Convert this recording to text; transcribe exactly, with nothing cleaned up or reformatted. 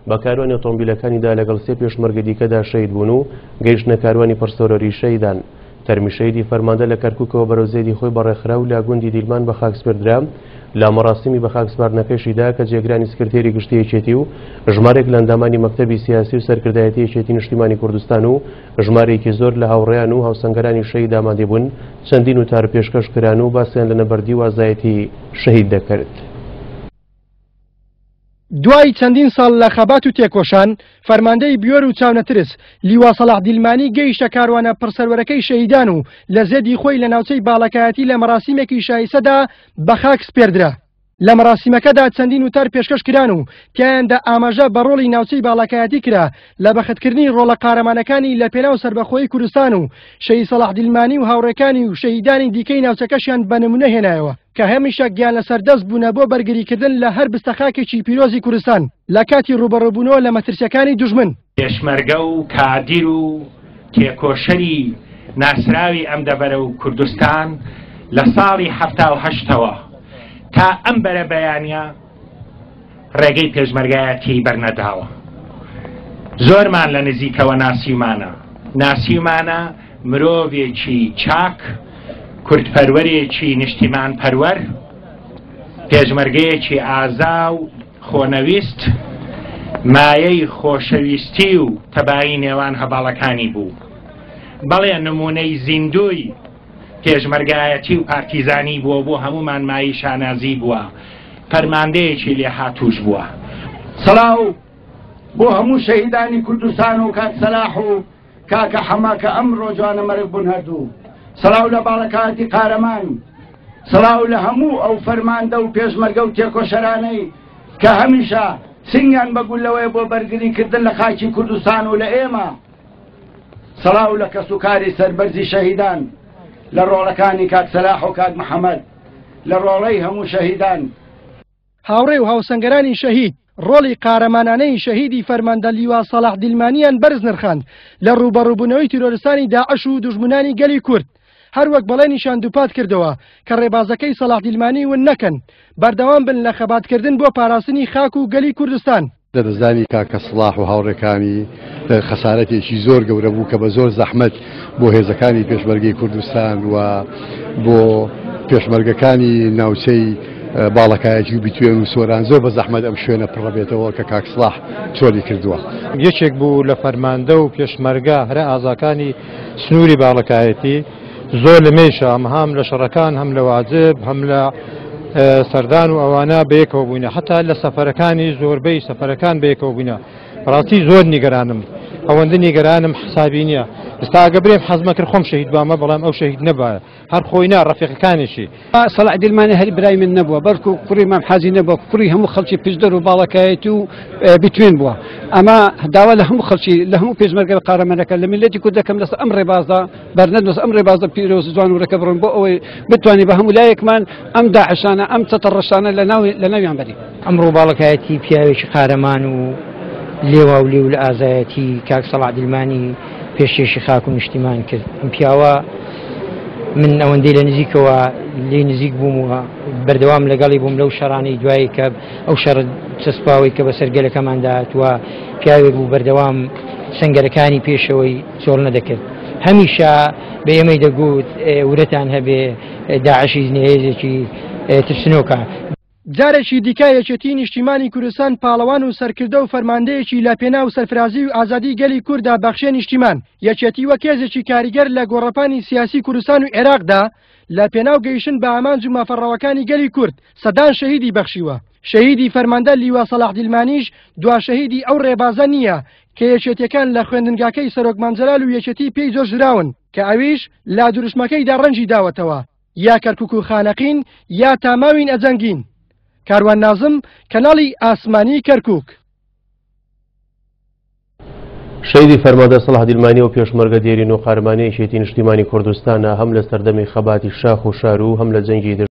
بە کاروانی ئۆتۆمبیلەکانیدا لەگەڵ سێ پێشمەرگە دیکەدا شەهید بوون و گەیشتنە کاروانی پڕسەرۆری شەهیدان. تەرمی شەهیدی فەرماندە لە کەرکووکەوە بەرەو زێدی خۆی بەڕێخرا و لە گوندی دیلمان بە خاک سپێردرا. لە مەراسیمی بە خاک سپاردنەکەشیدا کە جێگرانی سکرتێری گشتی یەکێتی و ژمارێک لە ئەندامانی مەکتەبی سیاسی و سەرکردایەتی یەکێتی نیشتیمانی کوردستان و ژمارێکی زۆر لە هاوڕێیان و هاوسەنگەرانی شەهید ئامادە بوون، چەندین وتار پێشکەش کران و باسیان لە نەبەردی و ئازایەتی شەهید دەکرد. دوای چەندین ساڵ لە خەبات و تێکۆشان، فەرماندەی بیۆر و چاونەترس لیوا سەلاح دیلمانی گەیشتە کاروانە پڕسەروەرەکەی شەهیدان و لە زێدی خۆی لە ناوچەی باڵەکایەتی لە مەراسیمێکی شایسەدا بە خاک سپێردرا. لە مەراسیمەکەدا چەندین وتار پێشکەش کران و تیایاندا ئاماژە بە ڕۆڵی ناوچەی باڵەکایەتی کرا لە بەختکردنی ڕۆڵە قارەمانەکانی لە پێناو سەربەخۆیی کوردستان و شەهید سەلاح دیلمانی و هاوڕێکانی و شەهیدانی دیکەی ناوچەکەشیان بە نمونە هێنایەوە کە هەمیشە گیان لەسەر دەست بوونە بۆ بەرگریکردن لە هەر بستەخاکێکی پیرۆزی کوردستان لە کاتی ڕووبەڕووبوونەوە لە مەترسیەکانی دوژمن. پێشمەرگە و کادیر و تێکۆشەری ناسراوی ئەم دەڤەرە و کوردستان لە ساڵی حەفتا و هەشتەوە تا ئەم بەرە بەیانە ڕێگەی پێشمەرگایەتی بەرنەداوە. زۆرمان لە نزیکەوە ناسیومانە، ناسیومانە مرۆڤێکی چاک، کوردپەروەرێکی نیشتیمان پەروەر، پێشمەرگەیەکی ئازا و خۆنەویست، مایەی خۆشەویستی و تەبایی نێوان هەڤاڵەکانی بوو. بەڵێ نمونەی زیندووی پێشمەرگایەتی و پارتیزانی بووە، بۆ هەمومان مایی شانازی بووە، فەرماندەیەکی لێهاتووش بووە. سەلاو بۆ هەموو شەهیدانی کوردستان و کاک سەلاح و کاکە حەمە کە ئەمڕۆ جوانە مەرگ بوون هەردوو. سەلاو لە باڵەکایەتی قارەمان، سەلاو لە هەموو ئەو فەرماندە و پێشمەرگە و تێکۆشەرانەی کە هەمیشە سنگیان بە گولەوەیە بۆ بەرگریکردن لە خاکی کوردستان و لە ئێمە. سەلاو لە کەسوکاری سەربەرزی شەهیدان، لە ڕۆڵەکانی کاک سەلاح و کاک محەممەد، لە ڕۆڵەی هەموو شەهیدان. هاوڕێ و هاوسەنگەرانی شەهید ڕۆڵی قارەمانانەی شەهیدی فەرماندە لیوا سەلاح دیلمانیان بەرز نرخاند لە ڕووبەڕووبوونەوەی تیرۆرستانی داعش و دوژمنانی گەلی کورد. هەروەک بەڵێنیشان دووپات کردەوە کە ڕێبازەکەی سەلاح دیلمانی ون نەکەن، بەردەوام بن لە خەباتکردن بۆ پاراستنی خاک و گەلی کوردستان. لەدەستدانی کاکە سڵاح و هاوڕێکانی خەسارەتێکی زۆر گەورە بوو کە بە زۆر زەحمەت بۆ هێزەکانی پێشمەرگەی کوردستان و بۆ پێشمەرگەکانی ناوچەی باڵەکایەتی و بیتوێن و سۆران زۆر بە زەحمەت ئەم شوێنە پڕەبێتەوە کە کاک سڵاح چۆلی کردووە. یەکێک بوو لە فەرماندە و پێشمەرگە هەرە ئازاکانی سنووری باڵەکایەتی، زۆر لە مێشە ئەم هەم لە شەڕەکان هەم لە واجب هەم لە سەردان و ئەوانە بەیەکەوە بووینە، حتا لە سەفەرەکانی زۆربەی سەفەرەکان بەیەکەوە بووینە. بەڕاستی زۆر نیگەرانم، ئەوەندە نیگەرانم حسابی نییە. ئێستا ئەگە برێم حەزمە کرد خۆم شەهید بامە، بەڵام ئەو شەهید نەبایە، هەر خۆی نا ڕەفیقەکانیشی. سەلاح دیلمانی هەر برای من نەبووە، بەڵکو کوڕی مام حاجی نەبووە، کوڕی هەموو خەڵکی پشدەر و باڵەکایەتی و بیتوێن بووە. ئەمە داوا لە هەموو خەڵکی، لە هەموو پێشمەرگە قارەمانەکە، لە میللەتی کورد دەکەم لەسەر ئەم ڕێبازدا بەرنەدن، لەسەر ئەم ڕێبازدا پیرۆز جوان و ڕێکە بڕۆن بۆ ئەوەی بتوانین بە هەموو لایەکمان ئەم داعشانە، ئەم چەتە ڕەشانە لە ناویان بەرین. ئەمڕۆ باڵەکایەتی پیاوێکی قارەمان و لێوا و لێو لە ئازایەتی کاک سەلاح دیلمانی پێشکێشی خاک و نیشتیمان کرد. ئەم پیاوە من ئەوەندەی لە نزیکەوە لێ نزیک بووم و بەردەوام لەگەڵی بووم لەو شەڕانەی دوایی کە ئەو شەڕ چەسپاوەی کە بەسەر گەلەکەماندا هاتووە، پیاوێک بوو بەردەوام سەنگەرەکانی پێشەوەی چۆڵ نەدەکرد. هەمیشە بە ئێمەی دەگوت ورەتان هەبێ، داعشی نهێزێکی ترسنۆکە. جارێکی دیکە یەکێتی نیشتیمانی کوردستان پاڵەوان و سەرکردە و فەرماندەیەکی لە پێناو سەرفرازی و ئازادی گەلی کووردا بەخشێ نیشتیمان. یەکێتی وەک هێزێکی کاریگەر لە گۆڕەپانی سیاسی کوردستان و عێراقدا لە پێناو گەیشتن بە ئامانج و مافەڕەوەکانی گەلی کورد سەدان شەهیدی بەخشیوە. شەهیدی فەرماندە لیوا سەلاح دیلمانیش دوا شەهیدی ئەو ڕێبازە نییە کە یەکێتیەکان لە خوێندنگاکەی سەرۆک مام جەلال و یەکێتی پێی جۆشدراون کە ئەویش لا دروشمەکەیدا ڕەنجی داوەتەوە، یا کەرکوک و خانەقین یا تاماوین ئەجەنگین. کاروان نازم، کەناڵی ئاسمانی کەرکوک. شەهیدی فەرماندە سەلاح دیلمانی و پێشمەرگە دێرین و قارەمانی یەکێتی نیشتیمانی کوردستانە هەم لە سەردەمی خەباتی شاخ و شار و هەم لە جەنگی